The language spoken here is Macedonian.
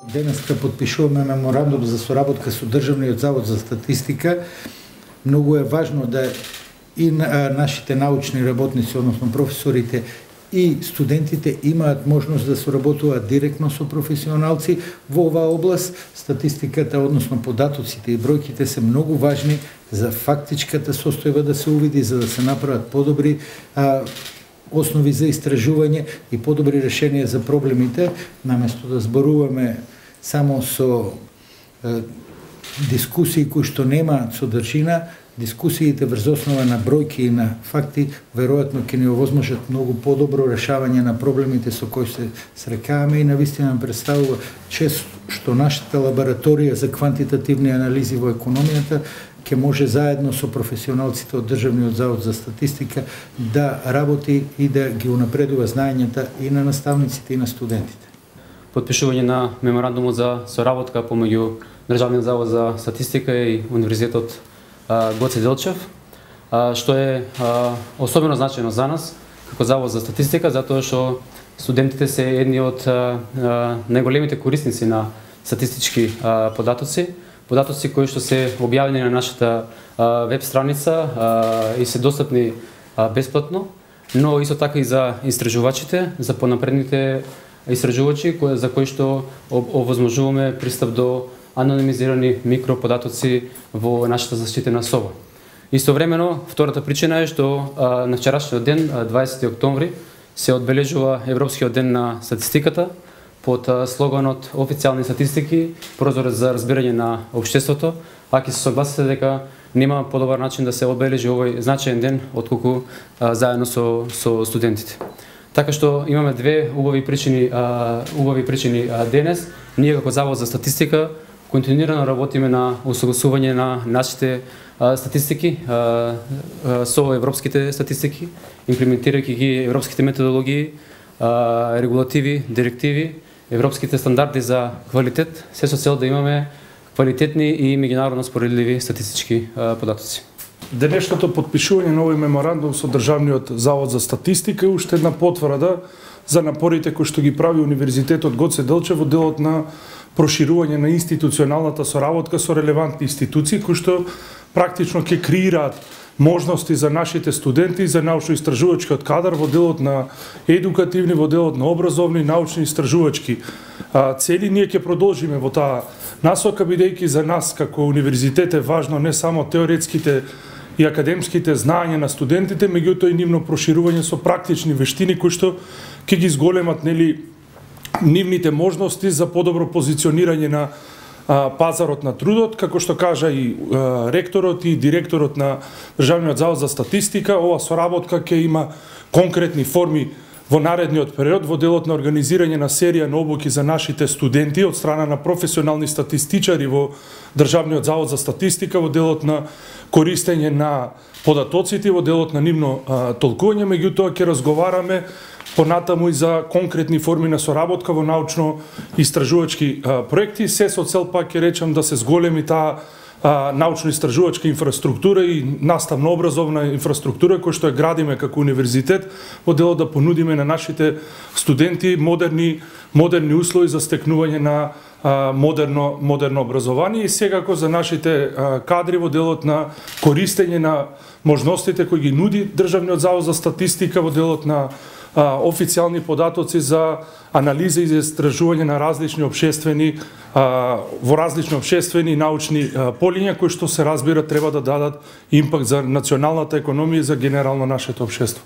Денеска подпишуваме меморандум за соработка со Државниот завод за статистика. Многу е важно да и нашите научни работници, односно професорите и студентите имаат можност да соработуваат директно со професионалци во оваа област. Статистиката, односно податоците и бројките се многу важни за фактичката состојба да се увиди, за да се направат подобри основи за истражување и подобри решенија за проблемите, наместо да зборуваме само со дискусии кои што немаат содржина. Дискусиите врз основа на бројки и на факти веројатно ќе ни овозможат многу подобро решавање на проблемите со кои се срекаваме и навистина представува чест што нашата лабораторија за квантитативни анализи во економијата ќе може заедно со професионалците од Државниот завод за статистика да работи и да ги унапредува знаењата и на наставниците и на студентите. Подпишување на меморандумот за соработка помеѓу Државниот завод за статистика и Универзитетот Гоце Делчев, што е особено значајно за нас како Завод за статистика, затоа што студентите се едни од најголемите корисници на статистички податоци кои што се објавени на нашата веб страница и се достапни бесплатно, но исто така и за истражувачите, за понапредните истражувачи за кои што овозможуваме пристап до анонимизирани микроподатоци во нашата заштитена соба. Истовремено, втората причина е што на вчерашниот ден, 20 октомври, се одбележува Европскиот ден на статистиката под слоганот Официјални статистики, прозорец за разбирање на општеството, а ќе се согласите дека нема подобар начин да се одбележи овој значаен ден отколку заедно со студентите. Така што имаме две убави причини денес. Ние како Завод за статистика континуирано работиме на усогласување на нашите статистики со европските статистики, имплементирајќи ги европските методологии, регулативи, директиви, европските стандарди за квалитет, се со цел да имаме квалитетни и меѓународно споредливи статистички податоци. Денешното подпишување на овој меморандум со Државниот завод за статистика е уште една потврда за напорите кои што ги прави Универзитетот Гоце Делчев во делот на проширување на институционалната соработка со релевантни институции кои што практично ќе креираат можности за нашите студенти и за научно-истражувачкиот кадар во делот на едукативни, во делот на образовни, научни истражувачки цели. Ние ќе продолжиме во таа насока, бидејќи за нас како универзитет е важно не само теоретските и академските знаења на студентите, меѓутоа и нивно проширување со практични вештини кои што ќе ги зголемат нивните можности за подобро позиционирање на пазарот на трудот. Како што кажа и ректорот и директорот на Државниот завод за статистика, ова соработка ќе има конкретни форми во наредниот период во делот на организирање на серија на обуки за нашите студенти од страна на професионални статистичари во Државниот завод за статистика, во делот на користење на податоците, во делот на нивно толкување. Меѓутоа ќе разговараме понатаму и за конкретни форми на соработка во научно-истражувачки проекти, се со цел, пак ќе речам, да се зголеми таа научно-истражувачка инфраструктура и наставно-образовна инфраструктура која што ја градиме како универзитет во делот да понудиме на нашите студенти модерни услови за стекнување на модерно образование и секако за нашите кадри во делот на користење на можностите кои ги нуди Државниот завод за статистика во делот на официјални податоци за анализа и за истражување на различни обшествени и научни полиња кои што се разбира треба да дадат импакт за националната економија и за генерално нашето општество.